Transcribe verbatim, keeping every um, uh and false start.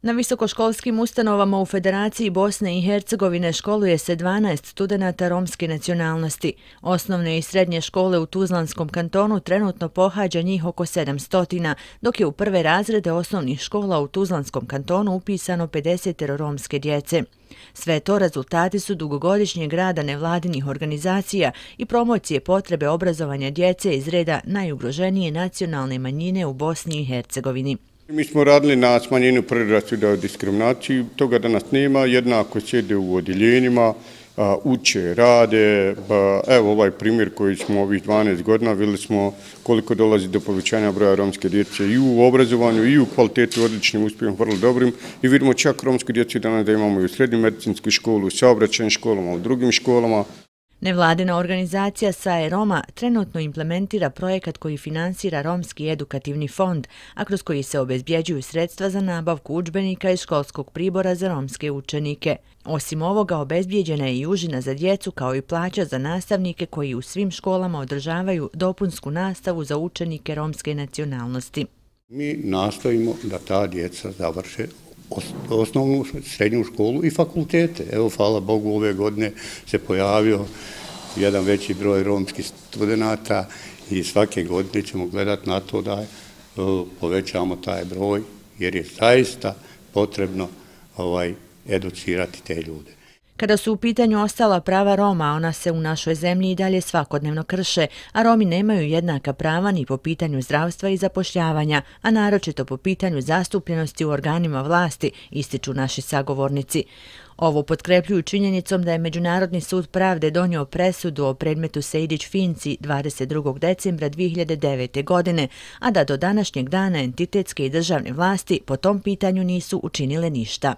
Na visokoškolskim ustanovama u Federaciji Bosne i Hercegovine školuje se dvanaest studenata romske nacionalnosti. Osnovne i srednje škole u Tuzlanskom kantonu trenutno pohađa njih oko sedamsto, dok je u prve razrede osnovnih škola u Tuzlanskom kantonu upisano pedeset romske djece. Sve to rezultati su dugogodišnjeg rada nevladinih organizacija i promocije potrebe obrazovanja djece iz reda najugroženije nacionalne manjine u Bosni i Hercegovini. Mi smo radili na smanjenju predrasuda o diskriminaciji, toga danas nema, jednako sjede u odjeljenjima, uče, rade. Evo ovaj primjer koji smo ovih dvanaest godina, vidjeli smo koliko dolazi do povećanja broja romske djece i u obrazovanju i u kvalitetu, odličnim uspjehom, vrlo dobrim. I vidimo čak romsku djecu danas da imamo i u srednjoj medicinskoj školi, u saobraćajnim školama, u drugim školama. Nevladina organizacija S A E Roma trenutno implementira projekat koji finansira Romski edukativni fond, a kroz koji se obezbjeđuju sredstva za nabavku udžbenika i školskog pribora za romske učenike. Osim ovoga, obezbjeđena je i užina za djecu kao i plaća za nastavnike koji u svim školama održavaju dopunsku nastavu za učenike romske nacionalnosti. Mi nastojimo da ta djeca završe osnovnu, srednju školu i fakultete. Evo, hvala Bogu, ove godine se pojavio jedan veći broj romskih studenata i svake godine ćemo gledati na to da povećamo taj broj, jer je zaista potrebno ovaj, educirati te ljude. Kada su u pitanju ostala prava Roma, ona se u našoj zemlji i dalje svakodnevno krše, a Romi nemaju jednaka prava ni po pitanju zdravstva i zapošljavanja, a naročito po pitanju zastupljenosti u organima vlasti, ističu naši sagovornici. Ovo potkrepljuju činjenicom da je Međunarodni sud pravde donio presudu o predmetu Sejdić-Finci dvadeset drugog decembra dvije hiljade devete. godine, a da do današnjeg dana entitetske i državne vlasti po tom pitanju nisu učinile ništa.